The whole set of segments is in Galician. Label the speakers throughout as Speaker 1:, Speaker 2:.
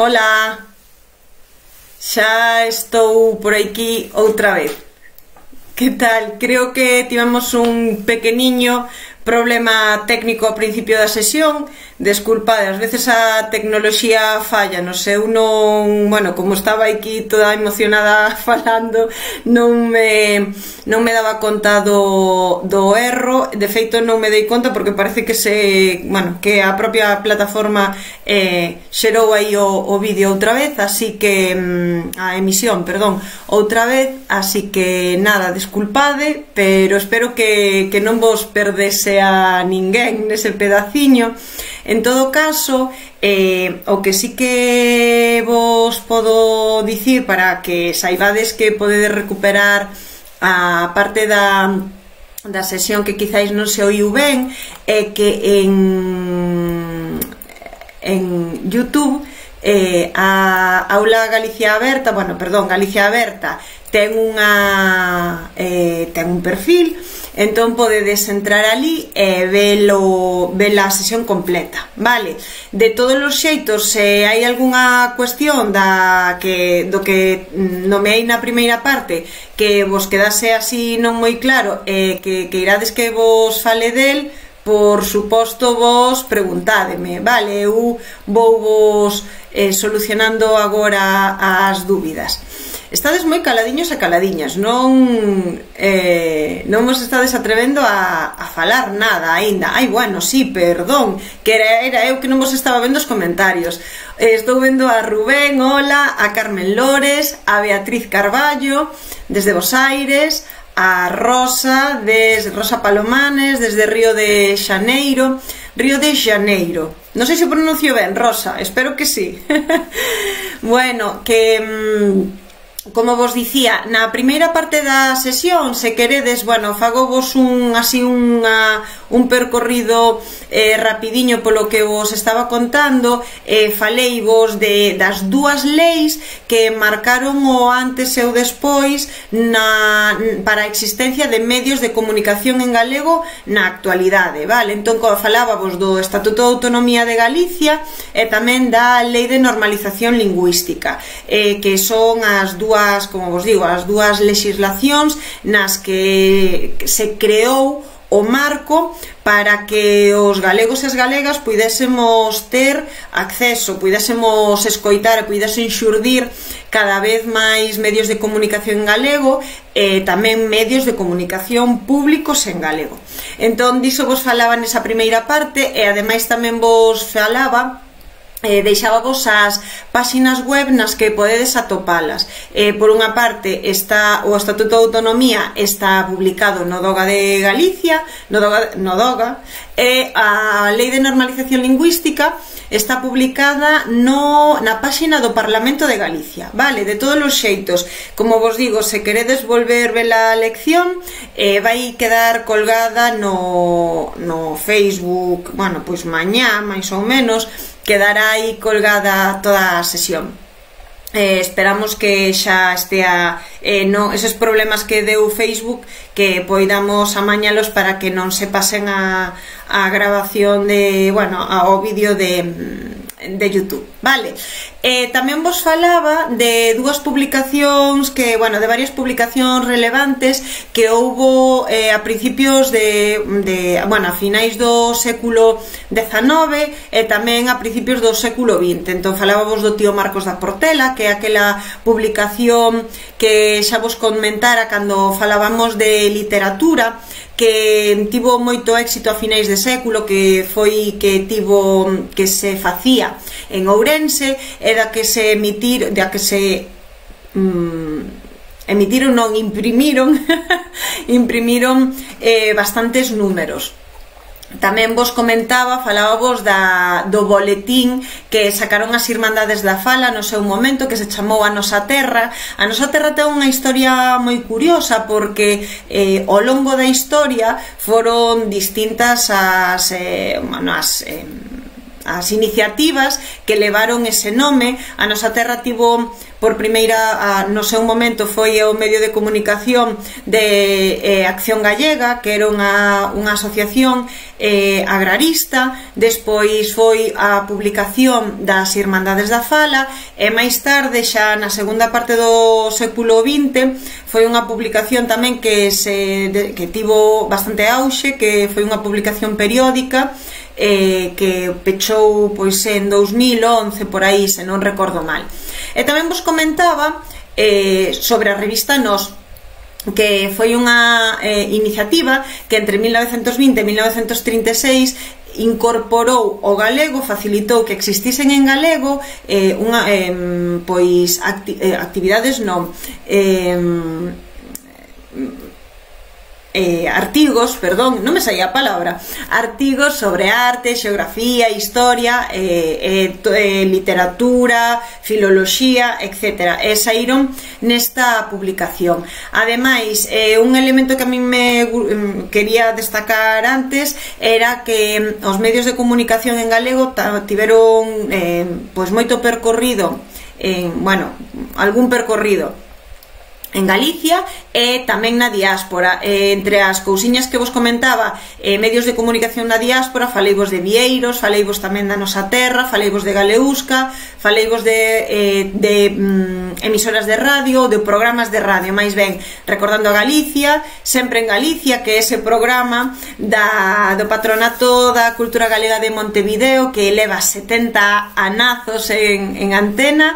Speaker 1: Hola, xa estou por aquí outra vez. Que tal? Creo que tivemos un pequeniño problema técnico ao principio da sesión. Desculpade, ás veces a tecnoloxía falla, non sei, eu non, bueno, como estaba aquí toda emocionada falando, non me daba conta do erro. De feito non me dei conta porque parece que que a propia plataforma xerou aí o vídeo outra vez, así que a emisión, perdón, outra vez, así que nada, desculpade, pero espero que non vos perdese a ninguén nese pedaciño. En todo caso, o que sí que vos podo dicir para que saibades que podedes recuperar a parte da sesión que quizáis non se oiu ben, é que en YouTube a Aula Galicia Aberta, Galicia Aberta ten un perfil, entón podedes entrar ali e ver a sesión completa, vale? De todos os xeitos, se hai algunha cuestión do que nomeei na primeira parte que vos quedase así non moi claro e que irades que vos fale del, por suposto vos preguntádeme, vale? Eu vou vos solucionando agora as dúbidas. Estades moi caladiños e caladiñas, non vos estades atrevendo a falar nada aínda. Ai, bueno, sí, perdón, que era eu que non vos estaba vendo os comentarios. Estou vendo a Rubén, hola, a Carmen Lores, a Beatriz Carballo desde Bos Aires, a Rosa Palomanes desde Río de Xaneiro. Non sei se pronuncio ben, Rosa, espero que sí. Bueno, que como vos dicía, na primeira parte da sesión, se queredes, fagovos un percorrido rapidiño polo que vos estaba contando. Faleivos das dúas leis que marcaron o antes e o despois para a existencia de medios de comunicación en galego na actualidade, vale? Entón, falábamos do Estatuto de Autonomía de Galicia e tamén da Lei de Normalización Lingüística, que son as dúas, como vos digo, as dúas legislacións nas que se creou o marco para que os galegos e as galegas puidésemos ter acceso, puidésemos escoitar e puidesen xurdir cada vez máis medios de comunicación en galego e tamén medios de comunicación públicos en galego. Entón, diso vos falaba nesa primeira parte e ademais tamén vos falaba deixábamos as páxinas web nas que podedes atopalas. Por unha parte, o Estatuto de Autonomía está publicado no DOGA de Galicia, no DOGA, e a Lei de Normalización Lingüística está publicada na páxina do Parlamento de Galicia, vale? De todos os xeitos, como vos digo, se queredes volver ver a lección, vai quedar colgada no Facebook, pois mañá, máis ou menos, quedará aí colgada toda a sesión. Esperamos que xa estea esos problemas que deu Facebook, que poidamos amañalos para que non se pasen a grabación ao vídeo de YouTube, vale? Tamén vos falaba de dúas publicacións de varias publicacións relevantes que houbo a principios a finais do século XIX e tamén a principios do século XX. Entón falábamos do tío Marcos da Portela, que é aquela publicación que xa vos comentara cando falábamos de literatura, que tivo moito éxito a finais de século, que se facía en Ourense, e da que se imprimiron bastantes números. Tamén vos falábamos do boletín que sacaron as Irmandades da Fala no seu momento, que se chamou A Nosa Terra. A Nosa Terra ten unha historia moi curiosa, porque ao longo da historia foron distintas as iniciativas que levaron ese nome. A nosa terra tivo por primeira, no seu momento foi o medio de comunicación de Acción Gallega, que era unha asociación agrarista. Despois foi a publicación das Irmandades da Fala, e máis tarde, xa na segunda parte do século XX, foi unha publicación tamén que tivo bastante auxe, que foi unha publicación periódica que pechou pois en 2011 por aí, se non recordo mal. E tamén vos comentaba sobre a revista Nós, que foi unha iniciativa que entre 1920 e 1936 incorporou o galego, facilitou que existisen en galego pois actividades non artigos, perdón, non me saía a palabra, artigos sobre arte, xeografía, historia, literatura, filoloxía, etc. E saíron nesta publicación. Ademais, un elemento que a mí me quería destacar antes era que os medios de comunicación en galego tiveron pois moito percorrido, algún percorrido en Galicia e tamén na diáspora. Entre as cousiñas que vos comentaba, medios de comunicación na diáspora, faleivos de Vieiros, faleivos tamén da nosa terra, faleivos de Galeusca, faleivos de emisoras de radio, de programas de radio, máis ben, recordando a Galicia, sempre en Galicia, que é ese programa do Patronato da Cultura Galega de Montevideo, que leva 70 anazos en antena.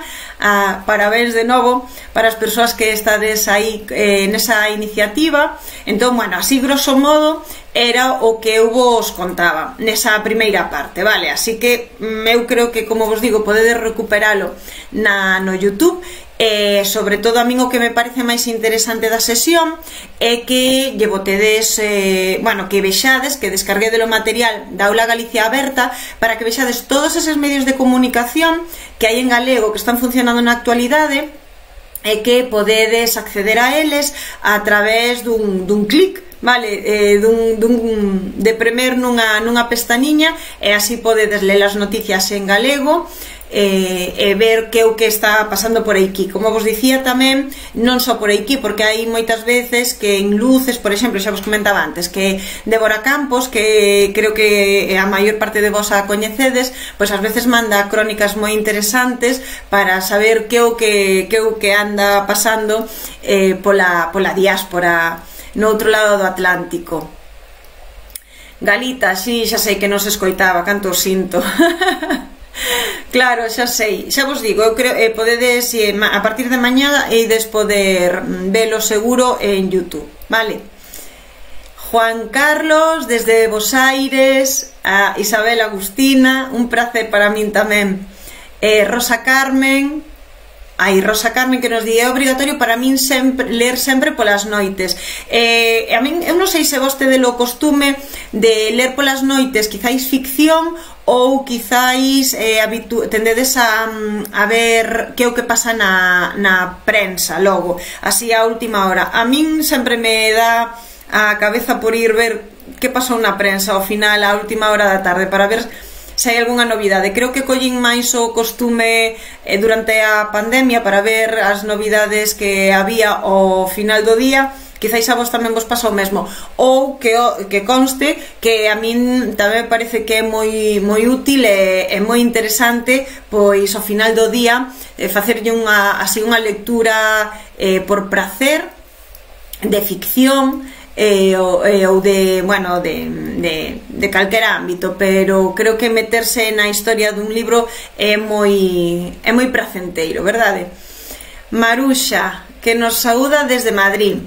Speaker 1: Parabéns de novo para as persoas que estades aí nesa iniciativa. Entón, así grosso modo era o que eu vos contaba nesa primeira parte, vale? Así que eu creo que, como vos digo, podedes recuperalo no YouTube. Sobre todo a min o que me parece máis interesante da sesión é que lle botedes, que vexades, que descarguedes o material da Aula Galicia Aberta, para que vexades todos eses medios de comunicación que hai en galego que están funcionando na actualidade, e que podedes acceder a eles a través dun clic, vale, de premer nunha pestañiña, e así podedes ler as noticias en galego e ver que é o que está pasando por aquí. Como vos dicía tamén, non só por aquí, porque hai moitas veces que en Luces, por exemplo, xa vos comentaba antes, que Débora Campos, que creo que a maior parte de vos a coñecedes, pois ás veces manda crónicas moi interesantes para saber que é o que anda pasando pola diáspora no outro lado do Atlántico. Galita, sí, xa sei que non se escoitaba, canto o sinto. Claro, xa sei, xa vos digo, eu creo podedes, a partir de mañá ides poder velo seguro en YouTube, vale? Juan Carlos desde Bos Aires, a Isabel Agustina, un placer para min tamén. Rosa Carmen que nos di: é obrigatorio para min ler sempre polas noites. A min, eu non sei se vos tedes o costume de ler polas noites quizáis ficción, ou quizáis tendedes a ver que é o que pasa na prensa logo, así a última hora. A min sempre me dá a cabeza por ir ver que pasou na prensa ao final, a última hora da tarde, para ver se hai algunha novidade. Creo que collín máis o costume durante a pandemia para ver as novidades que había ao final do día. Quizáis a vos tamén vos pasa o mesmo, ou que conste que a min tamén me parece que é moi útil e moi interesante, pois ao final do día facerlle unha lectura por prazer de ficción, ou de calquera ámbito, pero creo que meterse na historia dun libro é moi pracenteiro, verdade? Maruxa, que nos saúda desde Madrid.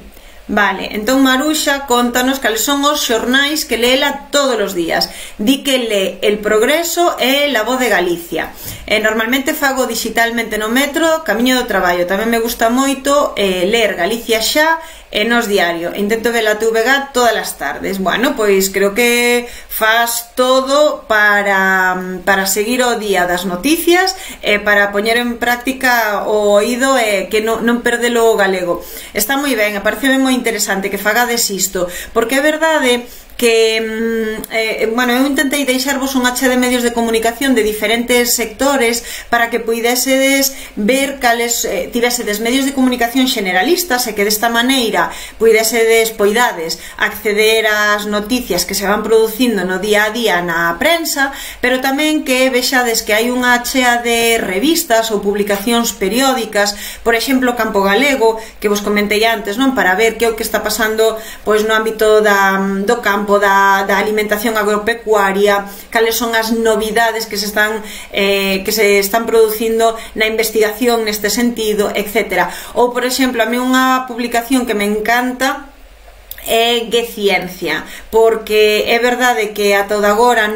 Speaker 1: Vale, entón Maruxa contanos cales son os xornais que leela todos os días. Di que lee El Progreso e La Voz de Galicia. Normalmente fago digitalmente no metro, camiño do traballo. Tamén me gusta moito ler Galicia Xa e Nos Diario. Intento ver a TVG todas as tardes. Bueno, pois creo que faz todo para seguir o día das noticias e para poñer en práctica o oído e que non perdelo o galego. Está moi ben, aparece moi interesante que fagades isto, porque é verdade que bueno, eu intentei deixarvos un hacha de medios de comunicación de diferentes sectores para que puidesedes ver cales tivesedes medios de comunicación generalistas e que desta maneira poidades acceder ás noticias que se van producindo no día a día na prensa, pero tamén que vexades que hai unha chea de revistas ou publicacións periódicas, por exemplo Campo Galego, que vos comentei antes, non, para ver que é o que está pasando pois no ámbito do campo, da alimentación agropecuaria, cales son as novidades que se están producindo na investigación neste sentido, etc. Ou, por exemplo, a mí unha publicación que me encanta é Ciencia, porque é verdade que ata o de agora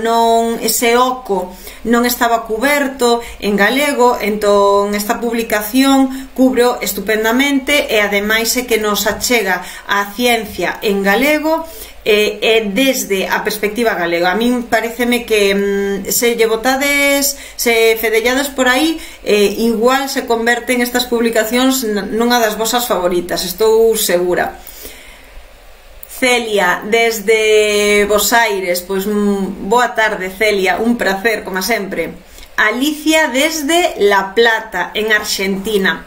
Speaker 1: ese oco non estaba cuberto en galego, entón esta publicación cubre estupendamente e ademais é que nos achega a ciencia en galego desde a perspectiva galega. A min pareceme que se lle botades, se fedellades por aí, igual se converten estas publicacións nunha das vosas favoritas, estou segura. Celia, desde Bos Aires, pois boa tarde Celia, un placer, como sempre. Alicia desde La Plata, en Argentina.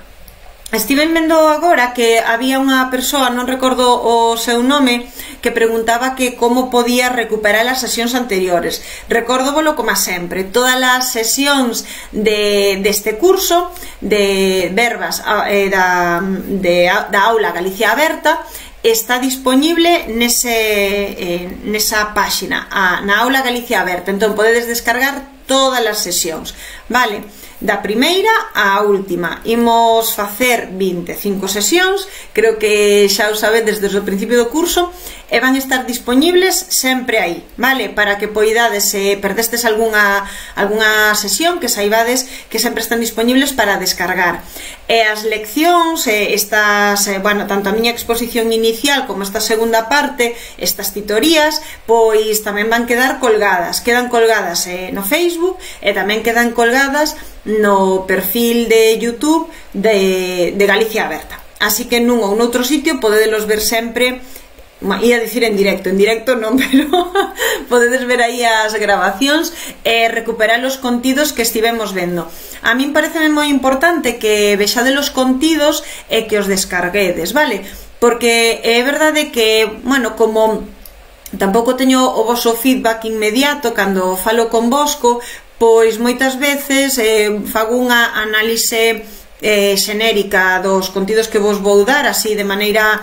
Speaker 1: Estive vendo agora que había unha persoa, non recordo o seu nome, que preguntaba que como podía recuperar as sesións anteriores. Recórdovolo como sempre, todas as sesións deste curso de verbas da aula Galicia Aberta está disponible nesa páxina, na aula Galicia Aberta. Entón podedes descargar todas as sesións, vale? Da primeira á última. Imos facer 25 sesións, creo que xa o sabedes desde o principio do curso, e van estar disponibles sempre aí, vale? Para que poidades, se perdestes algunha sesión, que saibades que sempre están disponibles para descargar. E as leccións, bueno, tanto a miña exposición inicial como esta segunda parte, estas titorías, pois tamén van quedar colgadas. Quedan colgadas no Facebook e tamén quedan colgadas no perfil de YouTube de Galicia Aberta. Así que nun ou noutro sitio podedelos ver sempre. Ia dicir en directo non, pero podedes ver aí as grabacións e recuperar os contidos que estivemos vendo. A min pareceme moi importante que vexades os contidos e que os descarguedes, vale? Porque é verdade que, bueno, como tampouco teño o voso feedback inmediato cando falo con vosco, pois moitas veces fago unha análise xenérica dos contidos que vos vou dar, así de maneira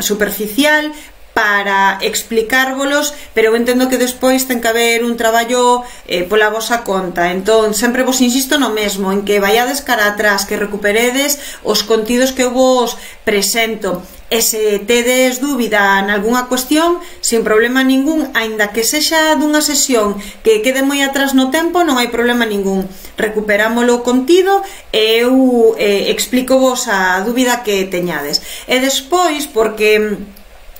Speaker 1: superficial, para explicárvolos, pero eu entendo que despois ten que haber un traballo pola vosa conta. Entón, sempre vos insisto no mesmo, en que vaiades cara atrás, que recuperedes os contidos que eu vos presento. E se tedes dúbida en algunha cuestión, sin problema ningún, aínda que sexa dunha sesión que quede moi atrás no tempo, non hai problema ningún. Recuperámolo o contido e eu explico vos a dúbida que teñades. E despois, porque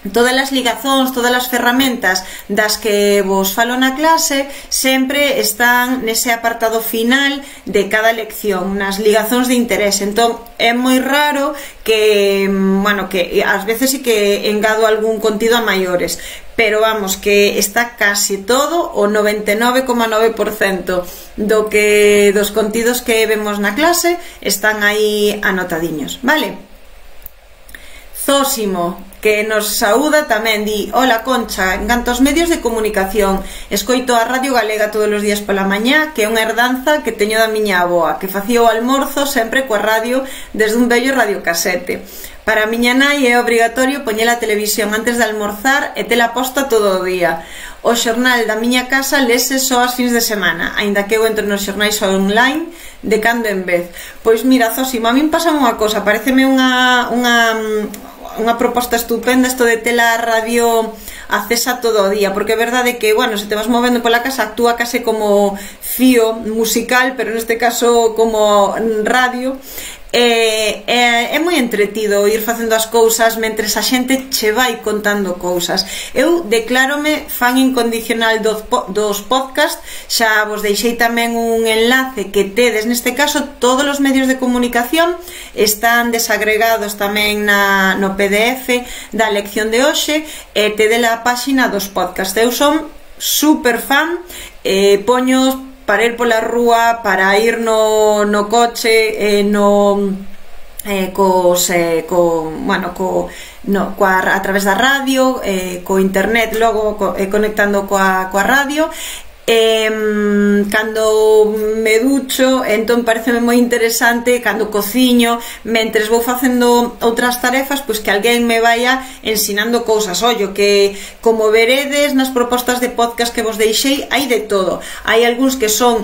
Speaker 1: todas as ligazóns, todas as ferramentas das que vos falo na clase sempre están nese apartado final de cada lección, nas ligazóns de interés. Entón é moi raro que, bueno, que ás veces sí que engado algún contido a maiores, pero vamos, que está casi todo, o 99,9% dos contidos que vemos na clase están aí anotadiños, vale? Zósimo, que nos saúda tamén, di: hola Concha, en canto aos medios de comunicación, escoito a Radio Galega todos os días pola mañá, que é unha herdanza que teño da miña avoa, que facía o almorzo sempre coa radio desde un vello radiocasete. Para a miña nai é obrigatorio poñer a televisión antes de almorzar e tela posta todo o día. O xornal da miña casa lese só as fins de semana, aínda que eu entro nos xornais online de cando en vez. Pois mira, Zósimo, a min pasa unha cosa, pareceme unha proposta estupenda isto de tela a radio acesa todo o día, porque é verdade que, bueno, se te vas movendo pola casa actúa case como fío musical, pero neste caso como radio, É moi entretido ir facendo as cousas mentres a xente che vai contando cousas. Eu declárome fan incondicional dos podcast. Xa vos deixei tamén un enlace que tedes, neste caso todos os medios de comunicación están desagregados tamén no PDF da lección de hoxe, e tede a páxina dos podcast. Eu son super fan, poños para ir pola rúa, para ir no coche, a través da radio, co internet, logo conectando coa radio. Cando me ducho, entón pareceme moi interesante, cando cociño, mentres vou facendo outras tarefas, pois que alguén me vaya ensinando cousas. Ollo, que como veredes nas propostas de podcast que vos deixei, hai de todo. Hai algúns que son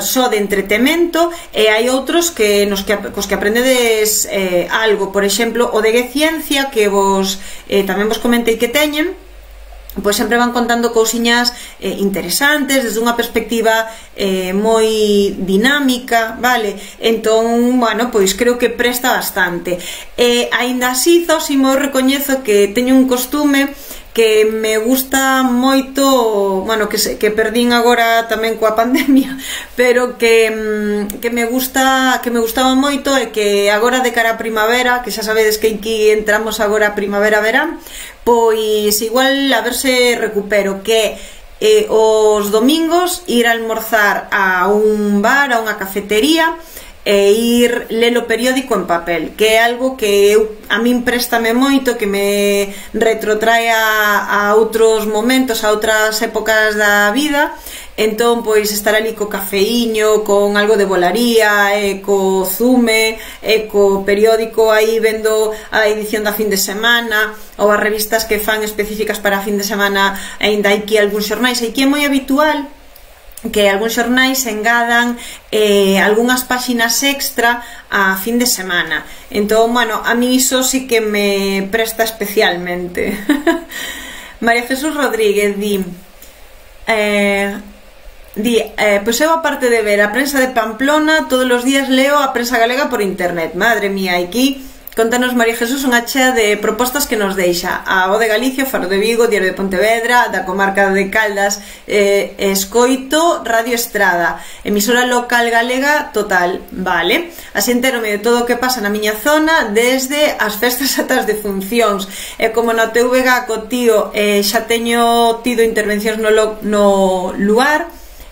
Speaker 1: só de entretemento, e hai outros que cos que aprendedes algo. Por exemplo, o de Ciencia, que tamén vos comentei que teñen, pois sempre van contando cousiñas interesantes desde unha perspectiva moi dinámica, vale? Entón, pois creo que presta bastante. Aínda así, Zósimo, recoñezo que teño un costume que me gusta moito, que perdín agora tamén coa pandemia, pero que me gustaba moito, e que agora de cara a primavera, que xa sabedes que aquí entramos agora a primavera-verán, pois igual a ver se recupero, que os domingos ir a almorzar a un bar, a unha cafetería, e ir ler o periódico en papel, que é algo que a min préstame moito, que me retrotrae a outros momentos, a outras épocas da vida. Entón, pois, estar ali co cafeíño, con algo de volaría, co zume, co periódico aí vendo a edición da fin de semana, ou as revistas que fan específicas para a fin de semana. Ainda hai que algúns xornais, aí que é moi habitual que algúns xornais engadan algunhas páxinas extra a fin de semana. Entón, a mí iso sí que me presta especialmente. María Jesús Rodríguez pois eu, aparte de ver a prensa de Pamplona, todos os días leo a prensa galega por internet. Madre mía, aquí contanos, María Jesús, unha chea de propostas que nos deixa a O de Galicia, Faro de Vigo, Diario de Pontevedra, da comarca de Caldas, escoito Radio Estrada, emisora local galega total, vale? Así enterome de todo o que pasa na miña zona, desde as festas ata as defuncións. E como no TVG co tío xa teño tido intervencións no lugar,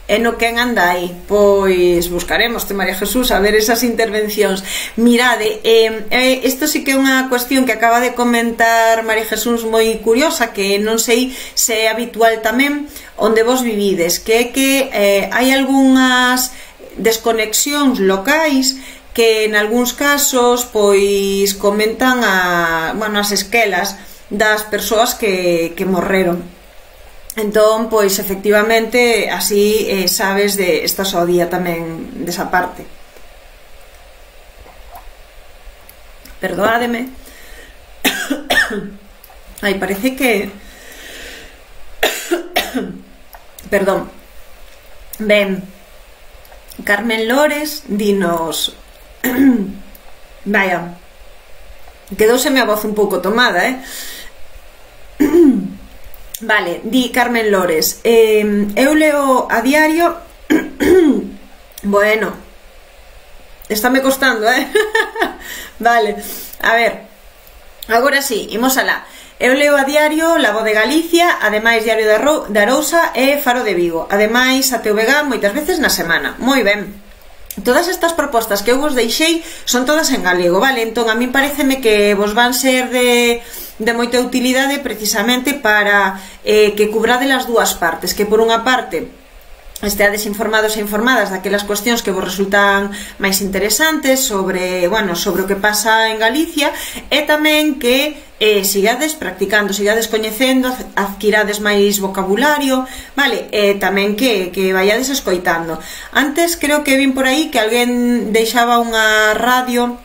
Speaker 1: e no quen anda aí, pois buscaremos, María Jesús, a ver esas intervencións. Mirade, isto sí que é unha cuestión que acaba de comentar María Jesús moi curiosa, que non sei se é habitual tamén onde vos vivides, que é que hai algunhas desconexións locais que en algúns casos pois comentan as esquelas das persoas que morreron. Entón, pois, efectivamente, así sabes de esta só día tamén desa parte. Perdoádeme. Ai, parece que... Perdón. Ben, Carmen Lores dinos... Vaya, quedouseme a voz un pouco tomada, Vale, di Carmen Lores, eu leo a diario. Bueno, estáme costando, Vale, a ver, agora sí, imos alá. Eu leo a diario La Voz de Galicia, ademais Diario de Arousa e Faro de Vigo, ademais a TVG moitas veces na semana. Moi ben. Todas estas propostas que eu vos deixei son todas en galego, vale? Entón, a mí pareceme que vos van ser de moita utilidade precisamente para que cubrade as dúas partes, que por unha parte esteades informados e informadas daquelas cuestións que vos resultan máis interesantes sobre o que pasa en Galicia, e tamén que sigades practicando, sigades coñecendo, adquirades máis vocabulario, vale? E tamén que vayades escoitando. Antes creo que vin por aí que alguén deixaba unha radio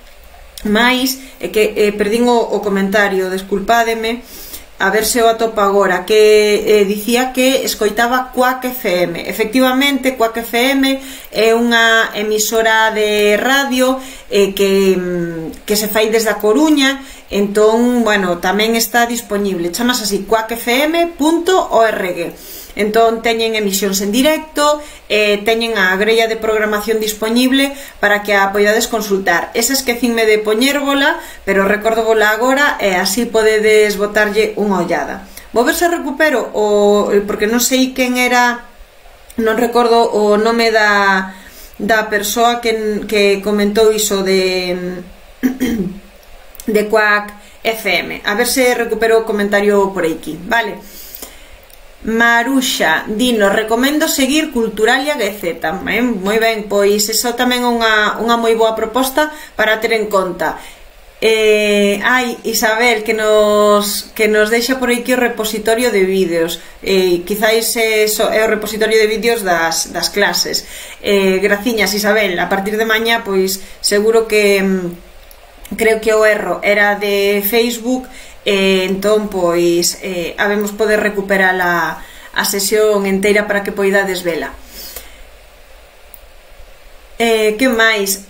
Speaker 1: máis, que perdín o comentario, desculpádeme. a ver se o atopa agora, que dicía que escoitaba Quack FM. Efectivamente, Quack FM é unha emisora de radio que se fai desde a Coruña. Entón, bueno, tamén está disponible, chamas así, quackfm.org. Entón teñen emisións en directo, teñen a grella de programación disponible para que a poidades consultar. Esa esquecinme de poñérvola, pero recórdovola agora e así podedes botarlle unha ollada. Vou ver se recupero porque non sei quen era, non recordo o nome da persoa que comentou iso de Quack FM. A ver se recupero o comentario por aquí, vale? Maruxa, dino, recomendo seguir Culturalia GZ. Moi ben, pois iso tamén é unha moi boa proposta para ter en conta. Isabel, que nos deixa por aquí o repositorio de vídeos. Quizáis é o repositorio de vídeos das clases. Graciñas, Isabel. A partir de mañá, pois seguro que creo que o erro era de Facebook. Entón, pois habemos poder recuperar a sesión inteira para que poidades vela. Que máis?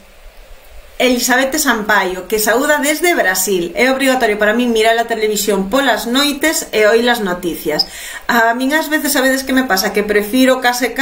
Speaker 1: Elizabeth Sampaio, que saúda desde Brasil. É obrigatorio para min mirar a televisión polas noites e oír as noticias. A min ás veces sabedes que me pasa, que prefiro case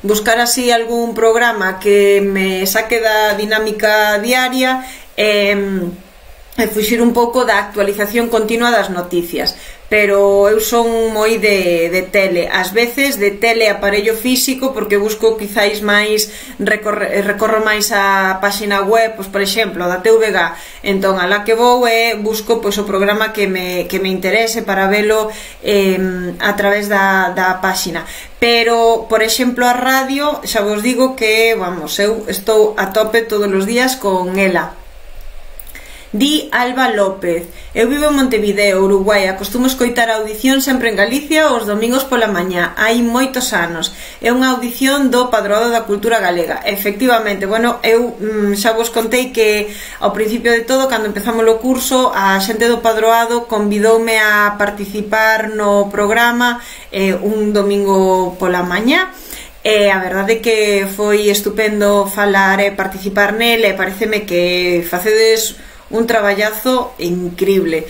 Speaker 1: buscar así algún programa que me saque da dinámica diaria e fuxir un pouco da actualización continua das noticias, pero eu son moi de tele, ás veces de tele aparello físico, porque busco quizáis máis, recorro máis a páxina web, pois, por exemplo, da TVG. Entón, alá que vou busco pois o programa que me interese para velo a través da páxina. Pero, por exemplo, a radio, xa vos digo que, vamos, eu estou a tope todos os días con ela. Di Alba López, eu vivo en Montevideo, Uruguai, acostumo escoitar a audición sempre en Galicia os domingos pola mañá, hai moitos anos. É unha audición do Padroado da Cultura Galega. Efectivamente, bueno, eu xa vos contei que ao principio de todo, cando empezamos o curso, a xente do Padroado convidoume a participar no programa un domingo pola mañá. A verdade é que foi estupendo falar e participar nel, e pareceme que facedes un traballazo increíble.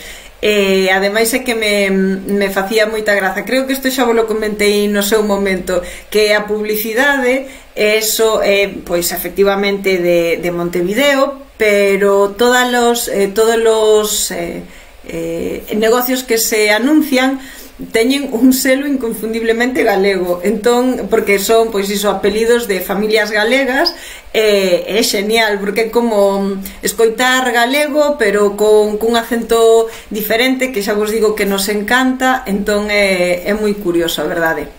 Speaker 1: Ademais é que me facía moita graza. Creo que isto xa vos lo comentei no seu momento, que a publicidade eso é, pois, efectivamente de Montevideo, pero todos os negocios que se anuncian teñen un selo inconfundiblemente galego. Entón, porque son, pois iso, apelidos de familias galegas, é genial, porque é como escoitar galego pero cun acento diferente, que xa vos digo que nos encanta. Entón é moi curioso, a verdade.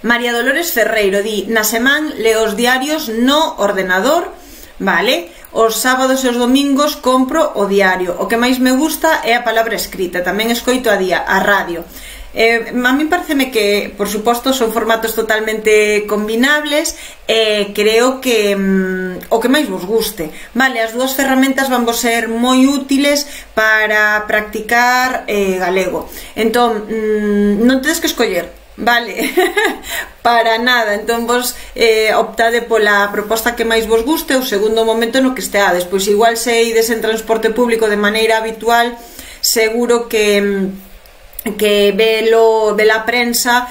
Speaker 1: María Dolores Ferreiro di, na semana leo os diarios no ordenador, vale? Os sábados e os domingos compro o diario. O que máis me gusta é a palabra escrita. Tamén escoito a radio. A mí pareceme que, por suposto, son formatos totalmente combinables, e creo que o que máis vos guste, vale? As dúas ferramentas van vos ser moi útiles para practicar galego. Entón, non tedes que escoller, vale? Para nada. Entón vos optade pola proposta que máis vos guste, o segundo momento no que esteades. Pois igual se ides en transporte público de maneira habitual, seguro que vela prensa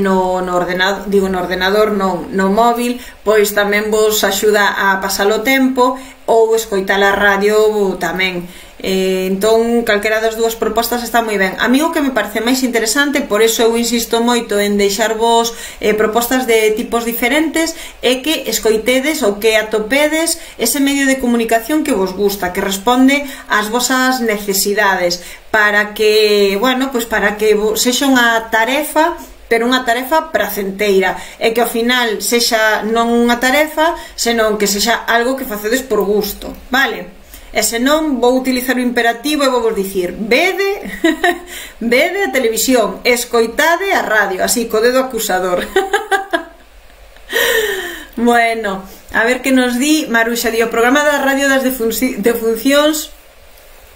Speaker 1: no ordenador, no móvil, pois tamén vos axuda a pasar o tempo, ou escoitar a radio tamén. Entón, calquera das dúas propostas está moi ben. A mí o que me parece máis interesante, por iso eu insisto moito en deixarvos propostas de tipos diferentes, é que escoitedes ou que atopedes ese medio de comunicación que vos gusta, que responde ás vosas necesidades, para que, bueno, pois para que sexa unha tarefa, pero unha tarefa pracenteira, e que ao final sexa non unha tarefa, senón que sexa algo que facedes por gusto, vale? E senón vou utilizar o imperativo e vou vos dicir, vede a televisión, escoitade a radio, así, co dedo acusador. Bueno, a ver que nos di Maruxa. Di, o programa da radio das defuncións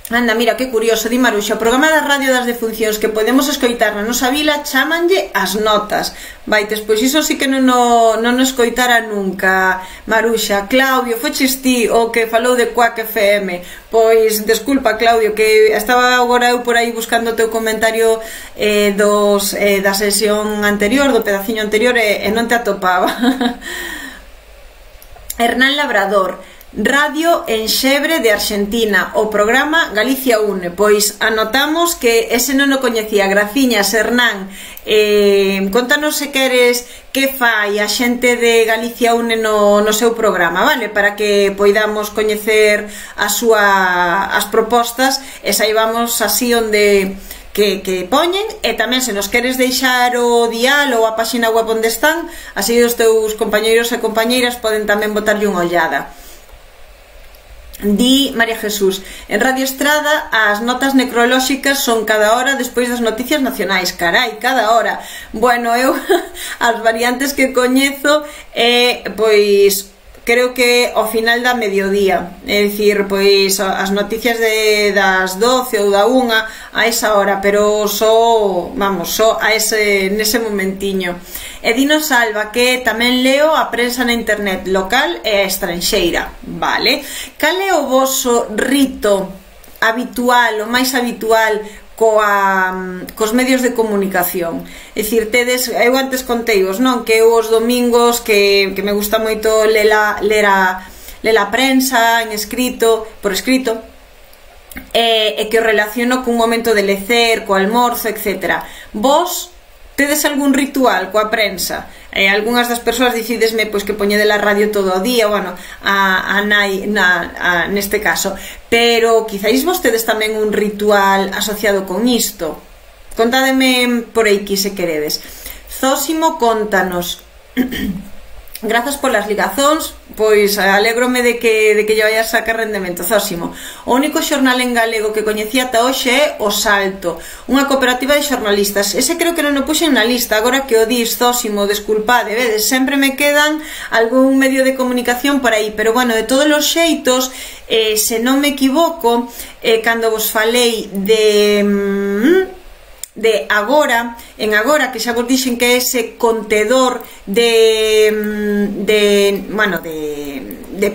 Speaker 1: Anda, mira, que curioso, di Maruxa, o programa da radio das defuncións que podemos escoitar na nosa vila chamanlle As Notas. Vaites, pois iso sí que non o escoitara nunca, Maruxa. Claudio, foches ti o que falou de Quack FM. Pois, desculpa, Claudio, que estaba agora eu por aí buscando o teu comentario da sesión anterior, do pedaciño anterior, e non te atopaba. Hernán Labrador, Radio Enxebre de Argentina, o programa Galicia Une. Pois anotamos que ese non o coñecía. Graciñas, Hernán. Contanos se queres que fai a xente de Galicia Une no seu programa, vale? Para que poidamos coñecer as propostas e saibamos así onde que poñen, e tamén se nos queres deixar o dial ou a páxina web onde están, así os teus compañeiros e compañeiras poden tamén botarlle unha ollada. Di María Jesús, en Radio Estrada as notas necrolóxicas son cada hora despois das noticias nacionais. Carai, cada hora. Bueno, eu as variantes que coñezo pois creo que ao final da mediodía, é dicir, pois as noticias das 12 ou da 1 a esa hora, pero só a nese momentiño. E dinos, Alba, que tamén leo a prensa na internet local e estranxeira, vale? Cal é o voso rito habitual, o máis habitual cos medios de comunicación? É dicir, eu antes conteivos, non? Que eu os domingos que me gusta moito ler a prensa por escrito, e que o relaciono cun momento de lecer, co almorzo, etc. Vos tedes algún ritual coa prensa? Algúnas das persoas dicidesme pois que poñede la radio todo o día, bueno, a nai neste caso, pero quizáis vos tedes tamén un ritual asociado con isto. Contádeme por aí que se queredes. Zósimo, contanos. Grazas polas ligazóns, pois alégrome de que lle vayas a sacar rendemento, Zósimo. O único xornal en galego que coñecía ata hoxe é O Salto, unha cooperativa de xornalistas. Ese creo que non o puxen na lista, agora que o dis, Zósimo, desculpade, vedes, sempre me quedan algún medio de comunicación por aí, pero bueno, de todos os xeitos, se non me equivoco, cando vos falei de Agora, en Agora, que xa vos dixen que é ese contedor de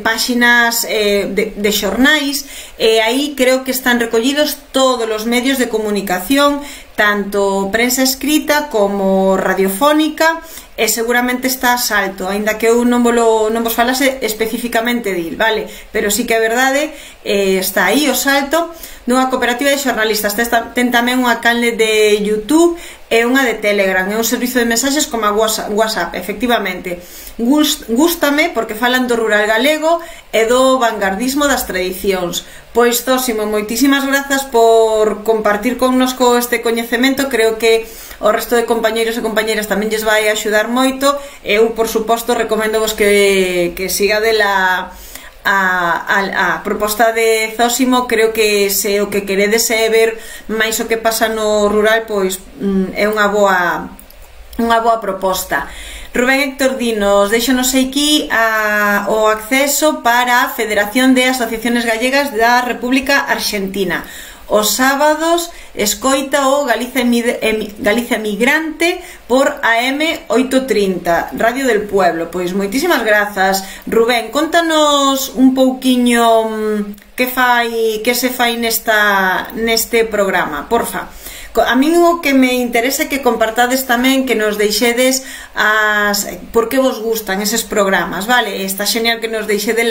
Speaker 1: páxinas de xornais, e aí creo que están recollidos todos os medios de comunicación, tanto prensa escrita como radiofónica, e seguramente está a Salto, aínda que eu non vos falase especificamente dil, vale? Pero sí que é verdade, está aí O Salto, dunha cooperativa de xornalistas. Ten tamén unha canle de YouTube e unha de Telegram, é un servizo de mensaxes como a WhatsApp, efectivamente. Gústame porque falan do rural galego e do vanguardismo das tradicións. Pois, Zósimo, moitísimas grazas por compartir connosco este coñecemento. Creo que o resto de compañeiros e compañeiras tamén lles vai axudar moito. Eu, por suposto, recomendo vos que sigade a proposta de Zósimo. Creo que se o que queredes é ver máis o que pasa no rural, pois é unha boa proposta. Rubén Héctor dinos, deixanos aquí o acceso para a Federación de Asociaciones Gallegas da República Argentina. Os sábados escoita o Galicia Migrante por AM 830, Radio del Pueblo. Pois moitísimas grazas, Rubén. Contanos un pouquiño que se fai neste programa, porfa. A mí o que me interesa é que compartades tamén, que nos deixedes por que vos gustan eses programas, vale? Está genial que nos deixedes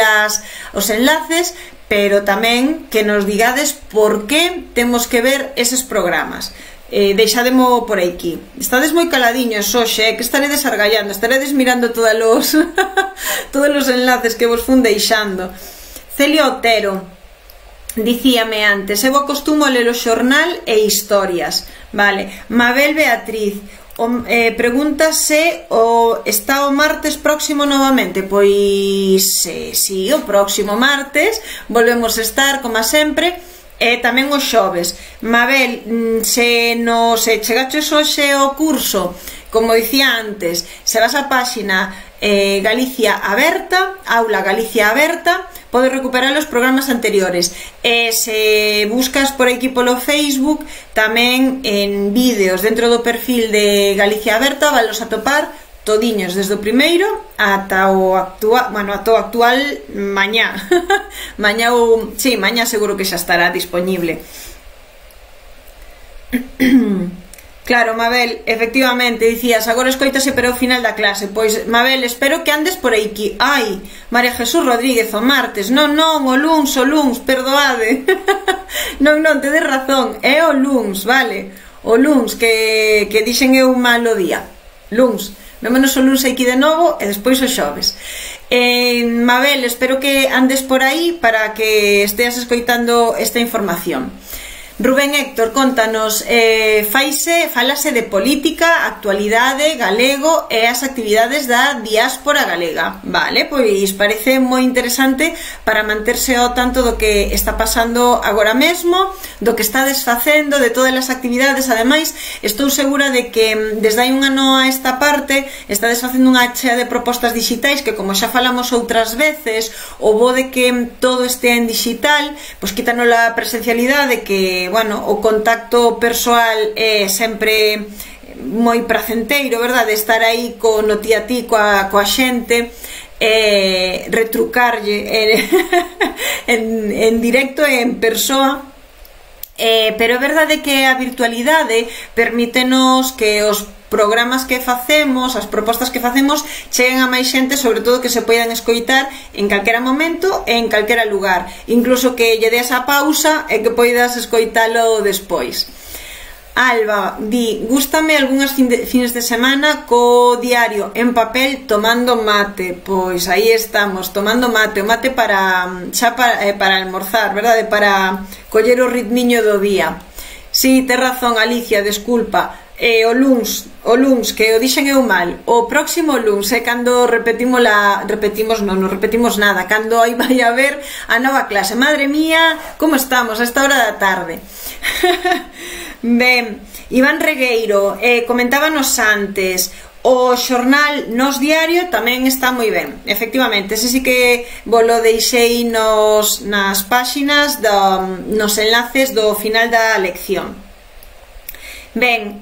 Speaker 1: os enlaces, pero tamén que nos digades por que temos que ver eses programas. Deixademo por aquí. Estades moi caladiños hoxe, que estaredes argallando, estaredes mirando todos os enlaces que vos fun deixando. Celia Otero dicíame antes, eu acostumo a ler o xornal e historias, vale? Mabel Beatriz pregúntase está o martes próximo novamente. Pois si, o próximo martes volvemos a estar como sempre, e tamén os xoves. Mabel, se chegaches hoxe ao curso, como dicía antes, se vas á páxina Galicia Aberta, Aula Galicia Aberta, podes recuperar os programas anteriores. E se buscas por aquí polo Facebook, tamén en vídeos dentro do perfil de Galicia Aberta valos atopar todiños, desde o primeiro ata o actual, bueno, ata o actual mañá. Mañá ou, sí, mañá seguro que xa estará disponible. Claro, Mabel, efectivamente, dicías, agora escoitase pero ao final da clase. Pois, Mabel, espero que andes por aquí. Ai, María Jesús Rodríguez, o martes. Non, o luns, perdoade. Non, tedes razón, é o luns, vale? O luns, que dixen eu mal o día. Luns, vémonos o luns aquí de novo e despois o xoves. Mabel, espero que andes por aí para que esteas escoitando esta información. Rubén Héctor, contanos, falase de política, actualidade, galego e as actividades da diáspora galega. Vale, pois parece moi interesante para manterse ao tanto do que está pasando agora mesmo, do que está desfacendo, de todas as actividades. Ademais, estou segura de que desde hai un ano a esta parte está desfacendo unha chea de propostas digitais que, como xa falamos outras veces, o bo de que todo estea en digital, pois quítanos a presencialidade, que bueno, o contacto persoal é sempre moi pracenteiro, verdade? Estar aí no ti a ti coa xente, retrucarlle en directo e en persoa. Pero é verdade que a virtualidade permítenos que os programas que facemos, as propostas que facemos, cheguen a máis xente, sobre todo que se poidan escoitar en calquera momento e en calquera lugar, incluso que lle des a pausa e que poidas escoitalo despois. Alba di, gústame algunhas fines de semana co diario en papel tomando mate. Pois aí estamos, tomando mate, o mate para almorzar, verdade? Para coller o ritmiño do día. Si, tes razón, Alicia, desculpa. O luns, que o dixen eu mal, o próximo luns é cando repetimos nada, cando aí vai haber a nova clase. Madre mía, como estamos a esta hora da tarde. Ben, Iván Regueiro, comentábanos antes, o xornal Nos Diario tamén está moi ben, efectivamente, ese sí que volo deixei nas páxinas, nos enlaces do final da lección. Ben,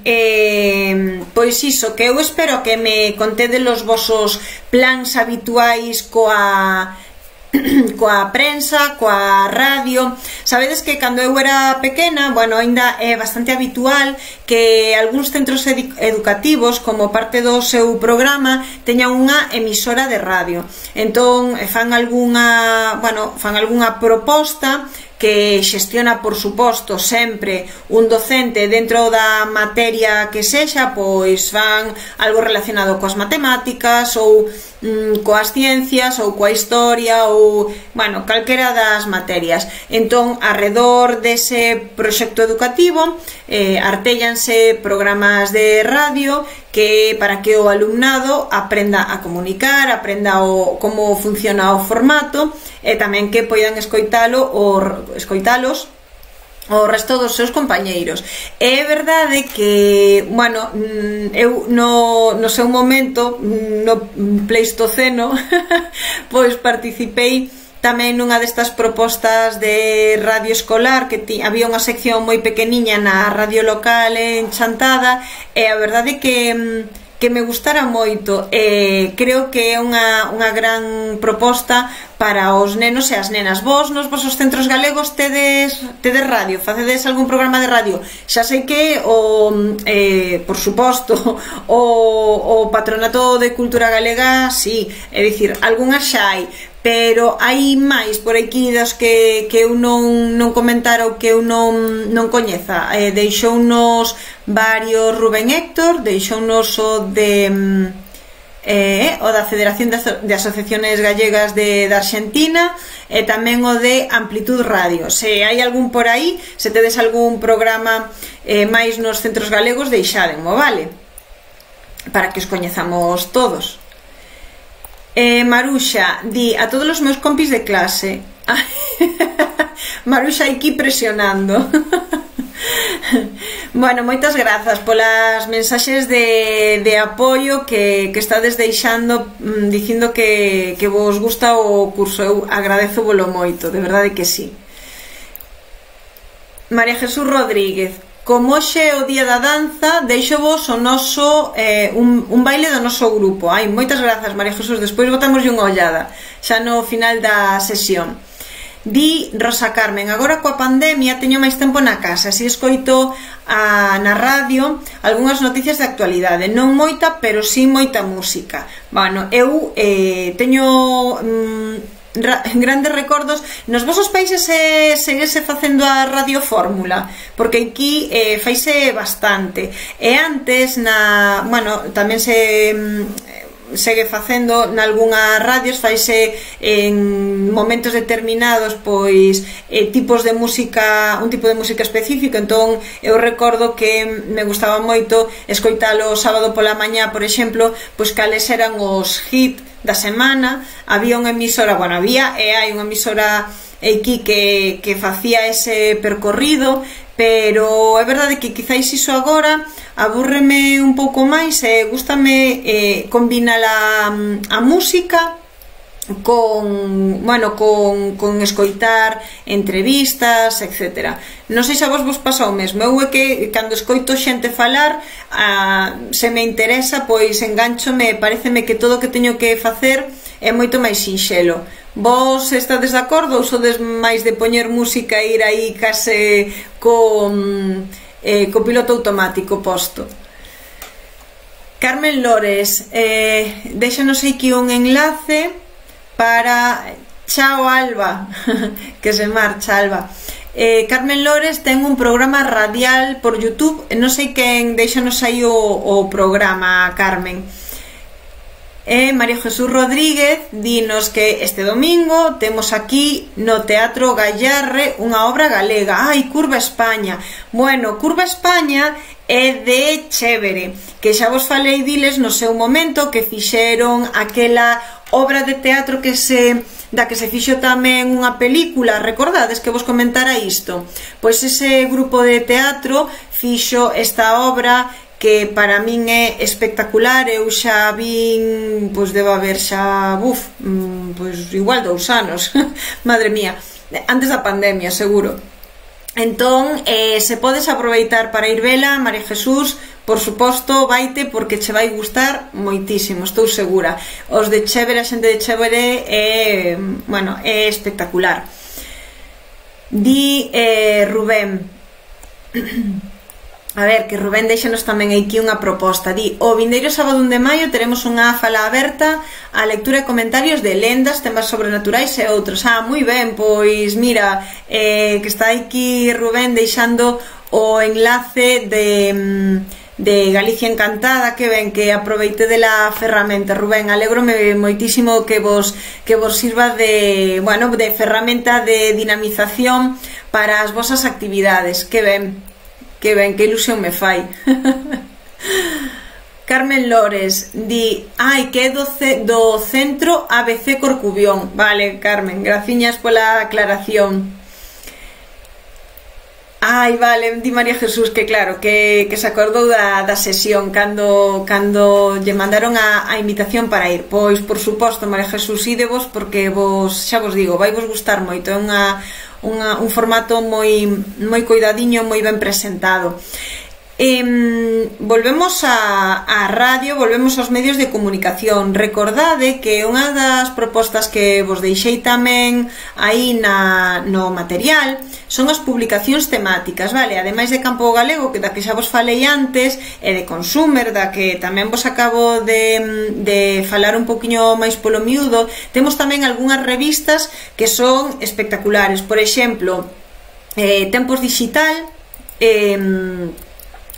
Speaker 1: pois iso, que eu espero que me contedes os vosos plans habituais coa prensa, coa radio. Sabedes que cando eu era pequena, bueno, ainda é bastante habitual que algúns centros educativos, como parte do seu programa, teñan unha emisora de radio. Entón, fan algunha proposta que xestiona, por suposto, sempre un docente dentro da materia que sexa, pois fan algo relacionado coas matemáticas ou coas ciencias ou coa historia ou, bueno, calquera das materias. Entón, arredor dese proxecto educativo artéllanse programas de radio para que o alumnado aprenda a comunicar, aprenda como funciona o formato e tamén que poidan escoitalos o resto dos seus compañeiros. É verdade que, bueno, eu no seu momento, no Pleistoceno, pois participei tamén nunha destas propostas de radio escolar, que había unha sección moi pequeniña na radio local en Chantada, e a verdade que me gustara moito. Creo que é unha gran proposta para os nenos e as nenas. Vos nos vosos centros galegos tedes radio, facedes algún programa de radio? Xa sei que por suposto o Patronato de Cultura Galega, sí, é dicir, algunhas xa hai, pero hai máis por aquí das que eu non comentara ou que eu non coñeza. Deixounos varios Rubén Héctor, deixounos o da Federación de Asociaciones Gallegas de Argentina e tamén o de Amplitud Radio. Se hai algún por aí, se tedes algún programa máis nos centros galegos, deixádenmo, vale? Para que os coñezamos todos. Maruxa di, a todos os meus compis de clase. Maruxa aquí presionando. Bueno, moitas grazas polas mensaxes de apoio que estades deixando, dicindo que vos gusta o curso. Eu agradezo volo moito, de verdade que sí. María Jesús Rodríguez: como hoxe é o día da danza, deixo vos o noso un baile do noso grupo. Ai, moitas grazas, María Jesús, despois botamoslle unha ollada xa no final da sesión. Di Rosa Carmen: agora coa pandemia teño máis tempo na casa, así escoito na radio algunhas noticias de actualidade, non moita, pero sí moita música. Bueno, eu teño grandes recordos. Nos vosos países seguese facendo a Radio Fórmula, porque aquí faise bastante, e antes bueno, tamén segue facendo nalgunhas radios, faise en momentos determinados pois tipos de música, un tipo de música específico. Entón eu recordo que me gustaba moito escoitalo o sábado pola mañá, por exemplo, pois cales eran os hits da semana. Había unha emisora, bueno, había e hai unha emisora aquí que facía ese percorrido, pero é verdade que quizáis iso agora abúrreme un pouco máis e gústame combinar a música con, bueno, con escoitar entrevistas, etc. Non sei se a vos pasa o mesmo. Eu é que cando escoito xente falar, se me interesa, pois enganchome, pareceme que todo o que teño que facer é moito máis sinxelo. Vos estades de acordo ou sodes máis de poñer música e ir aí case con piloto automático posto? Carmen Lores déxanos aquí un enlace para... Chao, Alba, que se marcha, Alba. Carmen Lores ten un programa radial por YouTube, non sei quen, déxanos aí o programa, Carmen. María Jesús Rodríguez dinos que este domingo temos aquí no Teatro Gallarre unha obra galega. Ai, Curva España. Bueno, Curva España é de Chévere, que xa vos falei diles no seu momento, que fixeron aquela obra de teatro da que se fixo tamén unha película. Recordades que vos comentara isto? Pois ese grupo de teatro fixo esta obra que para min é espectacular. Eu xa vin, pois debo haber xa, pois igual 2 anos, madre mía, antes da pandemia, seguro. Entón, se podes aproveitar para ir vela, María Jesús, por suposto, vaite, porque che vai gustar moitísimo, estou segura. Os de Chévere, a xente de Chévere bueno, é espectacular. Di Rubén, a ver, que Rubén deixanos tamén aquí unha proposta. Di: o vindeiro sábado 1 de maio teremos unha fala aberta a lectura e comentarios de lendas, temas sobrenaturais e outros. Moi ben, pois mira, que está aquí Rubén deixando o enlace de Galicia Encantada. Que ben, que aproveite de la ferramenta, Rubén. Alégrome moitísimo que vos sirva de, bueno, de ferramenta de dinamización para as vosas actividades. Que ben, que ilusión me fai. Carmen Lores di: ai, que é do centro ABC Corcubión. Vale, Carmen, graciñas pola aclaración. Ai, vale, di María Jesús que claro, que se acordou da sesión cando lle mandaron a invitación para ir. Pois, por suposto, María Jesús, idevos, porque vos, xa vos digo, vai vos gustar moito. É un formato moi coidadiño, moi ben presentado. Volvemos a radio, volvemos aos medios de comunicación. Recordade que unha das propostas que vos deixei tamén aí no material son as publicacións temáticas, vale? Ademais de Campo Galego, da que xa vos falei antes, e de Consumer, da que tamén vos acabo de falar un poquinho máis polo miúdo, temos tamén algunhas revistas que son espectaculares. Por exemplo, Tempos Digital,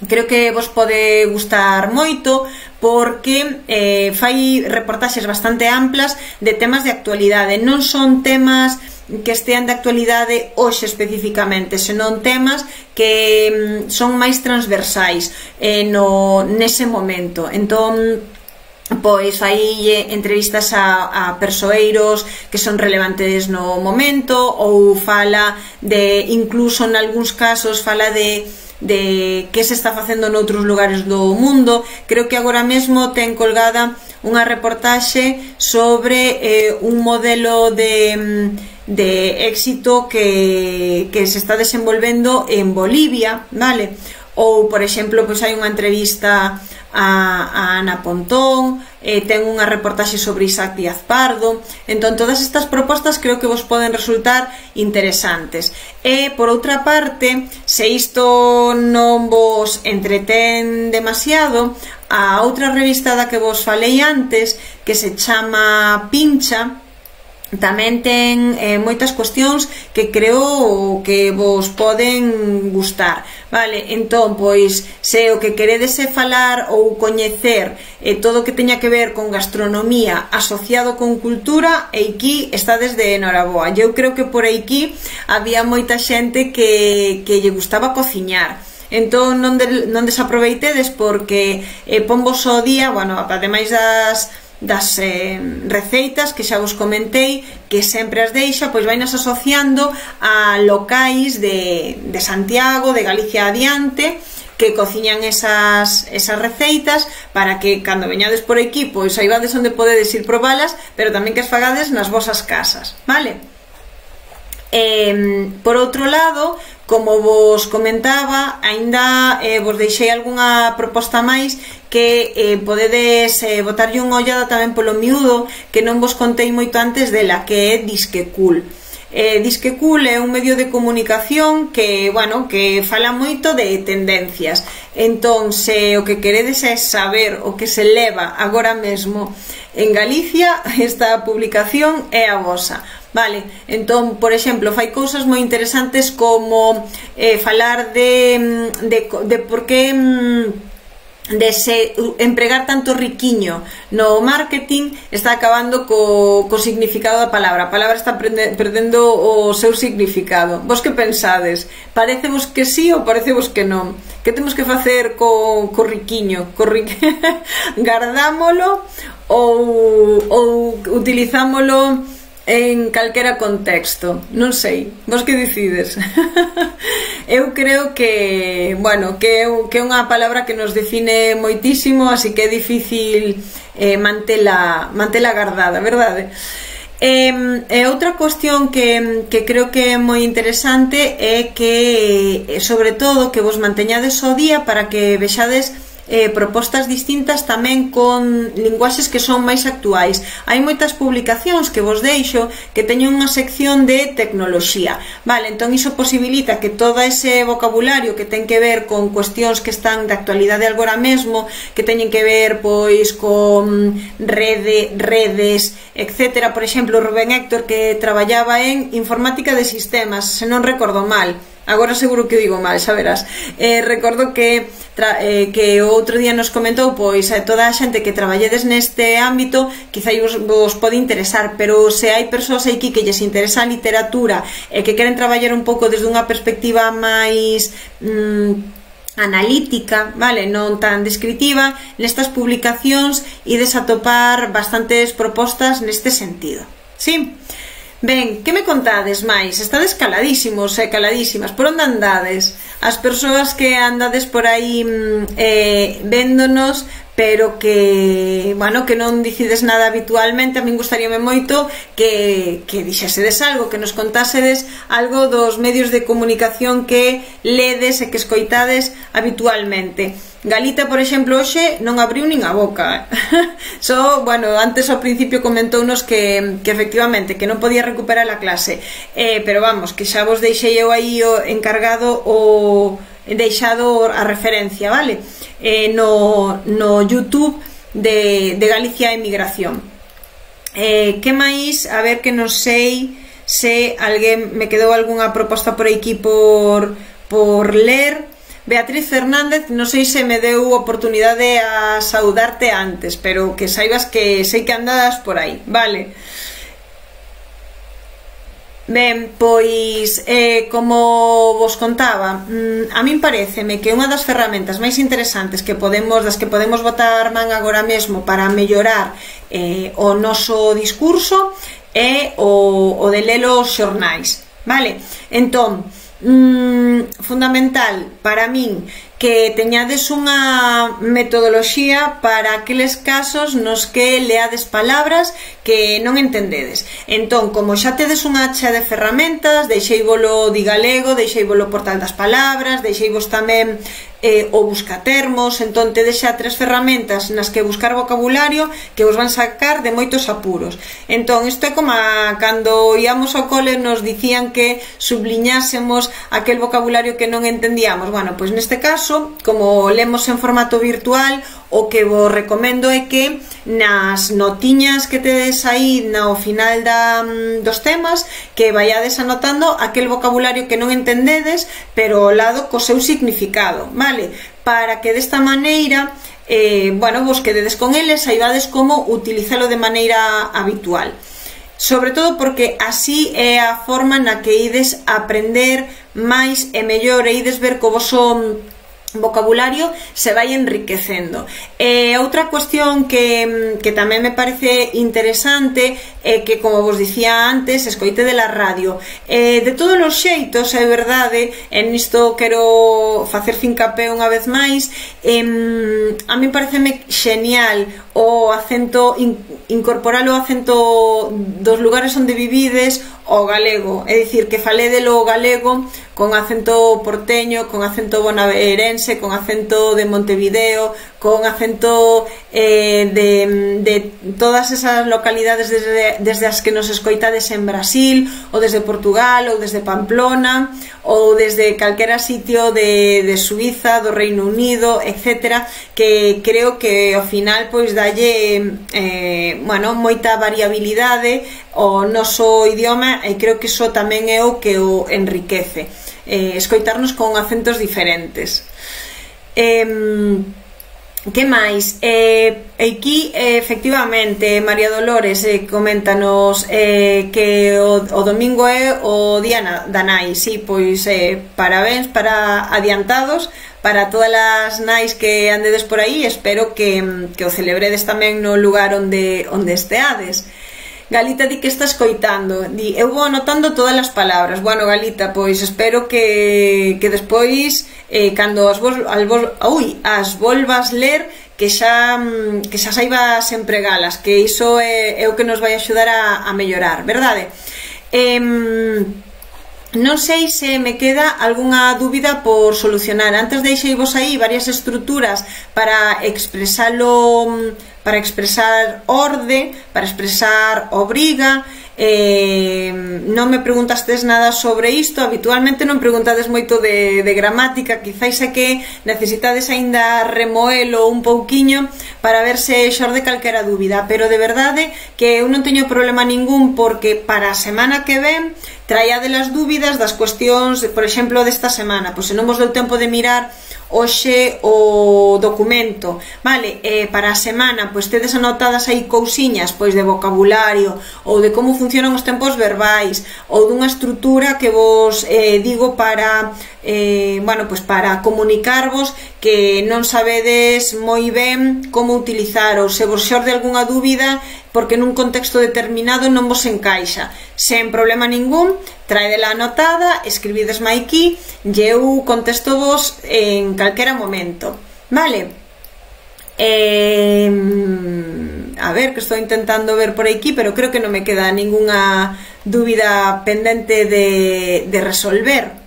Speaker 1: creo que vos pode gustar moito, porque fai reportaxes bastante amplas de temas de actualidade. Non son temas que estean de actualidade hoxe especificamente, senón temas que son máis transversais nese momento. Entón, pois fai entrevistas a persoeiros que son relevantes no momento, ou fala de, incluso en algúns casos fala de que se está facendo noutros lugares do mundo. Creo que agora mesmo ten colgada unha reportaxe sobre un modelo de éxito que se está desenvolvendo en Bolivia, vale? Ou, por exemplo, pois hai unha entrevista a Ana Pontón, ten unha reportaxe sobre Isaac Díaz Pardo. Entón, todas estas propostas creo que vos poden resultar interesantes. E, por outra parte, se isto non vos entretén demasiado, a outra revista da que vos falei antes, que se chama Pincha, tamén ten moitas cuestións que creo que vos poden gustar, vale? Entón, pois, se o que queredes é falar ou coñecer todo o que teña que ver con gastronomía asociado con cultura, aquí estades de enhoraboa. Eu creo que por aquí había moita xente que lle gustaba cociñar. Entón, non desaproveitedes, porque ponvos o día, bueno, ademais das receitas que xa vos comentei, que sempre as deixa, pois vainas asociando a locais de Santiago, de Galicia adiante, que cociñan esas receitas, para que cando veñades por aquí, pois saibades onde podedes ir probalas, pero tamén que as fagades nas vosas casas, vale? Por outro lado, como vos comentaba, aínda vos deixei algunha proposta máis que podedes botarlle unha ollada tamén polo miúdo, que non vos contei moito antes dela, que é Disque Cool. Disque Cool é un medio de comunicación que, bueno, que fala moito de tendencias. Entón, se o que queredes é saber o que se leva agora mesmo en Galicia, esta publicación é a vosa. Vale, entón, por exemplo, fai cousas moi interesantes como falar de por que de se empregar tanto riquiño no marketing está acabando co significado da palabra. A palabra está perdendo o seu significado. Vos que pensades? Parecevos que sí ou parecevos que non? Que temos que facer co riquiño? Gardámolo ou utilizámolo en calquera contexto? Non sei, vos que decides? Eu creo que, bueno, que é unha palabra que nos define moitísimo, así que é difícil mantela gardada, verdade? E outra cuestión que creo que é moi interesante é que, sobre todo, que vos manteñades ao día para que vexades propostas distintas tamén con linguaxes que son máis actuais. Hai moitas publicacións que vos deixo que teñen unha sección de tecnoloxía, vale? Entón iso posibilita que todo ese vocabulario que ten que ver con cuestións que están de actualidade agora mesmo, que teñen que ver pois con redes, etc. Por exemplo, Rubén Héctor, que traballaba en informática de sistemas, se non recordo mal, agora seguro que digo mal, xa verás. Recordo que o outro día nos comentou, pois toda a xente que traballedes neste ámbito quizá vos pode interesar, pero se hai persoas aquí que lles interesa a literatura e que queren traballar un pouco desde unha perspectiva máis analítica, vale, non tan descritiva, nestas publicacións ides a topar bastantes propostas neste sentido. Sí? Ben, que me contades máis? Estades caladísimos e caladísimas. Por onde andades? As persoas que andades por aí véndonos, pero que, bueno, que non dicides nada habitualmente, a min gustaríame moito que dixesedes algo, que nos contásedes algo dos medios de comunicación que ledes e que escoitades habitualmente. Galita, por exemplo, hoxe non abriu nin a boca. Só, bueno, antes ao principio comentounos que efectivamente que non podía recuperar a clase, pero vamos, que xa vos deixei eu aí o encargado deixado a referencia, vale? No YouTube de Galicia Emigración. Que máis? A ver, que non sei se alguén me quedou algunha proposta por aquí por ler. Beatriz Fernández, non sei se me deu oportunidade a saudarte antes, pero que saibas que sei que andas por aí, vale? Ben, pois, como vos contaba, a min pareceme que unha das ferramentas máis interesantes das que podemos botar man agora mesmo para mellorar o noso discurso é o de ler os xornais, vale? Entón, fundamental para min que teñades unha metodoloxía para aqueles casos nos que leades palabras que non entendedes. Entón, como xa tedes unha chea de ferramentas, deixeivolo Digalego, deixeivolo Portal das Palabras, deixeivos tamén o Buscatermos, entón tedes xa 3 ferramentas nas que buscar vocabulario que vos van sacar de moitos apuros. Entón, isto é como cando íamos ao cole nos dicían que subliñásemos aquel vocabulario que non entendíamos. Bueno, pois neste caso, como lemos en formato virtual, o que vos recomendo é que nas notiñas que tedes aí no final dos temas, que vayades anotando aquel vocabulario que non entendedes, pero ao lado co seu significado, vale? Para que desta maneira, bueno, vos quededes con eles, saibades como utilizalo de maneira habitual. Sobre todo porque así é a forma na que ides aprender máis e mellor, e ides ver co voso vocabulario se vai enriquecendo. Outra cuestión que tamén me parece interesante é que, como vos dicía antes, escoite de la radio. De todos os xeitos, é verdade, en isto quero facer fincapé unha vez máis, a mí pareceme xenial o acento, incorporar o acento dos lugares onde vivides ao galego, é dicir, que falédelo o galego con acento porteño, con acento bonaerense, con acento de Montevideo, con acento de todas esas localidades desde as que nos escoitades en Brasil, ou desde Portugal, ou desde Pamplona, ou desde calquera sitio de Suiza, do Reino Unido, etc., que creo que ao final pois dalle bueno, moita variabilidade ao noso idioma, e creo que iso tamén é o que o enriquece, escoitarnos con acentos diferentes. Que máis? Aquí, efectivamente, María Dolores coméntanos que o domingo é o día da nai. Sí, pois parabéns adiantados para todas as nais que andedes por aí. Espero que o celebredes tamén no lugar onde esteades. Galita di que está escoitando, di, eu vou anotando todas as palabras. Bueno, Galita, pois espero que despois, cando as volvas ler, que xa saibas empregalas, que iso é o que nos vai axudar a mellorar, verdade? Non sei se me queda algunha dúbida por solucionar. Antes deixeivos aí varias estruturas para expresalo, para expresar orde, para expresar obriga. Non me preguntastes nada sobre isto. Habitualmente non preguntades moito de gramática. Quizáis é que necesitades aínda remoelo un pouquiño para ver se xorde calquera dúbida, pero de verdade que eu non teño problema ningún, porque para a semana que ven traíade as dúbidas das cuestións, por exemplo, desta semana. Pois se non vos deu tempo de mirar hoxe o documento, vale, para a semana pois tedes anotadas aí cousiñas pois de vocabulario, ou de como funcionan os tempos verbais, ou dunha estrutura que vos digo para bueno, pois para comunicarvos que non sabedes moi ben como utilizar, ou se vos xorde algunha dúbida porque nun contexto determinado non vos encaixa, sen problema ningún, traedela anotada, escribidesme aquí e eu contesto vos en calquera momento, vale? A ver, que estou intentando ver por aquí, pero creo que non me queda ninguna dúbida pendente de resolver.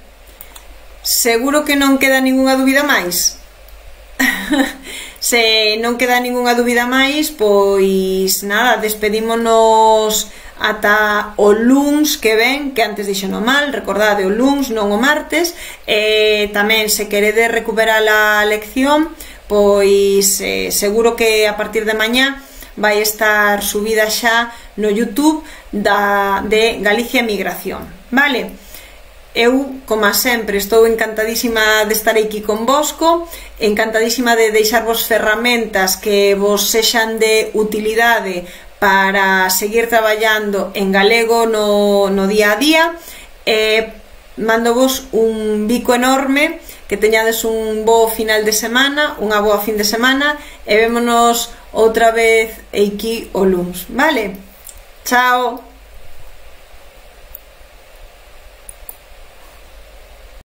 Speaker 1: Seguro que non queda ninguna dúbida máis? Se non queda ninguna dúbida máis, pois nada, despedímonos ata o luns que ven, que antes dixo no mal, recordade, o luns, non o martes. Tamén, se queredes recuperar a lección, pois seguro que a partir de mañá vai estar subida xa no YouTube de Galicia Migración, vale? Eu, como sempre, estou encantadísima de estar aquí convosco, encantadísima de deixarvos ferramentas que vos sexan de utilidade para seguir traballando en galego no día a día. Mandovos un bico enorme, que teñades un bo final de semana, unha boa fin de semana, e vémonos outra vez aquí o luns, vale? Chao!